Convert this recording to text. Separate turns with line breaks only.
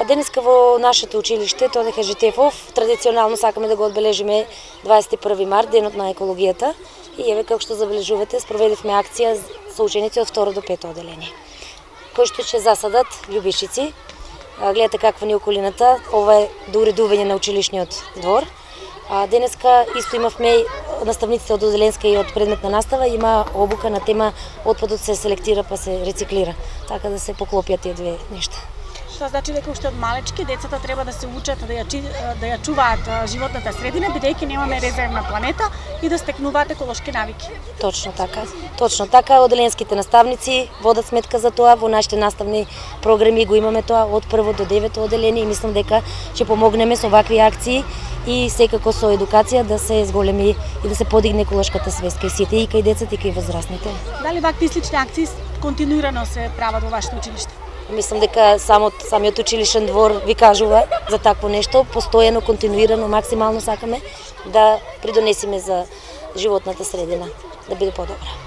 Денеска во нашето училиште, Тодор Хаджитефов, традиционално сакаме да го одбележиме 21 март, денот на екологијата. И еве како што забележувате, спроведевме акција со ученици од 2 до 5 оделение, кои што ќе засадат љубичици. Гледате каква ни околината, ова е до уредување на училишниот двор. Денеска исто имавме наставниците од одделенска и од предметна настава, има обука на тема отпадот се селектира па се рециклира, така да се поклопјат тие две нешта.
Тоа значи дека уште од малечки децата треба да се учат да ја чуваат животната средина, бидејќи немаме резервна планета и да стекнуваат еколошки навики.
Точно така. Точно така, одделенските наставници водат сметка за тоа, во нашите наставни програми го имаме тоа од 1 до 9 одделение и мислам дека ќе помогнеме со вакви акции и секако со едукација да се зголеми и да се подигне еколошката свест кај сите, и кај децата и кај возрастните.
Дали вакви слични акции континуирано се прават во вашето училиште?
Мислам дека самиот училишен двор ви кажува за такво нешто, постојано, континуирано, максимално сакаме да придонесиме за животната средина, да биде подобра.